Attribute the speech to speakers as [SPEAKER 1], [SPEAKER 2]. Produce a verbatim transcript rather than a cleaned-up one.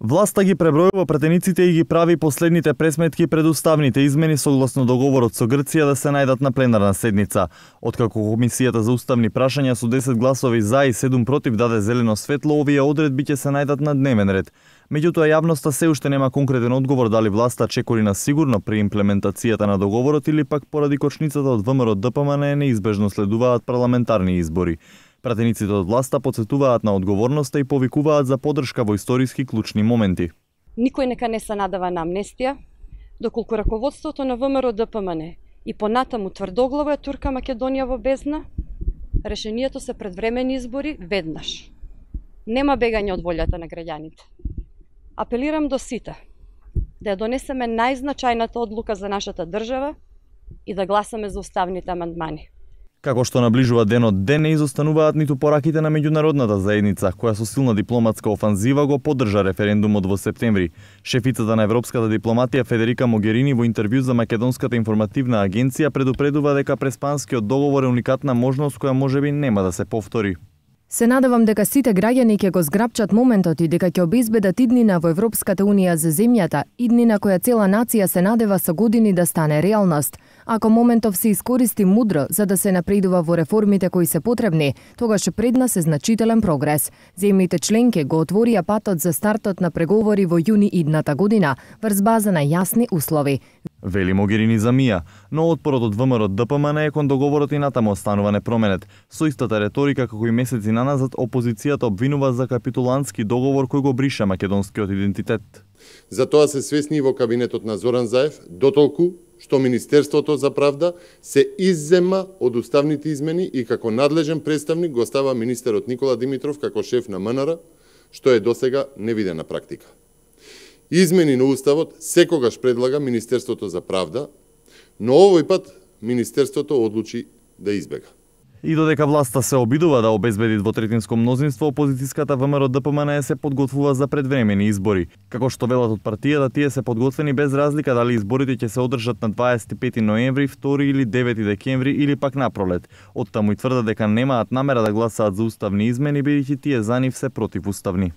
[SPEAKER 1] Власта ги пребројува претениците и ги прави последните пресметки пред уставните измени согласно договорот со Грција да се најдат на пленарна седница. Откако Комисијата за уставни прашања со десет гласови за и седум против даде зелено светло, овие одредби ќе се најдат на дневен ред. Меѓутоа, јавноста се уште нема конкретен одговор дали власта чекори на сигурно при имплементацијата на договорот или пак поради кочницата од ВМРО Д П М Н неизбежно следуваат парламентарни избори. Пратениците од власта потсетуваат на одговорноста и повикуваат за поддршка во историски клучни моменти.
[SPEAKER 2] Никој нека не се надава на амнестија, доколку раководството на ВМРО Д П М Н и понатаму тврдоглаво ја турка Македонија во бездна, решението се предвремени избори веднаш. Нема бегање од волјата на граѓаните. Апелирам до сите да ја донесеме најзначајната одлука за нашата држава и да гласаме за уставните амандмани.
[SPEAKER 1] Како што наближува денот ден, не изостануваат ниту пораките на меѓународната заедница, која со силна дипломатска офанзива го поддржа референдумот во септември. Шефицата на европската дипломатија Федерика Могерини во интервју за Македонската информативна агенција предупредува дека преспанскиот договор е уникатна можност која можеби нема да се повтори.
[SPEAKER 3] Се надевам дека сите граѓани ќе го зграпчат моментот и дека ќе обезбедат иднина во Европската Унија за земјата, иднина која цела нација се надева со години да стане реалност. Ако моментов се искористи мудро за да се напредува во реформите кои се потребни, тогаш пред нас е значителен прогрес. Земјите членки го отворија патот за стартот на преговори во јуни идната година, врз база на јасни услови.
[SPEAKER 1] Вели Могерини за Мија, но отпорот од ВМРО Д П М Н е кон договорот и натаму останува непроменет. Со истата реторика како и месеци наназад, опозицијата обвинува за капитулантски договор кој го бриша македонскиот идентитет.
[SPEAKER 4] За тоа се свесни и во кабинетот на Зоран Заев, дотолку што Министерството за правда се иззема од уставните измени и како надлежен представник го става министерот Никола Димитров како шеф на М Н Р, што е досега невидена практика. Измени на уставот секогаш предлага Министерството за правда, но овој пат Министерството одлучи да избега.
[SPEAKER 1] И додека власта се обидува да обезбеди двотретинско мнозинство, опозицијската ВМРО Д П М Н се подготвува за предвремени избори. Како што велат од партијата, тие се подготвени без разлика дали изборите ќе се одржат на дваесет и пети ноември, втори или девети декември или пак напролет. Оттаму и тврдат дека немаат намера да гласаат за уставни измени, бидејќи тие за нив се противуставни.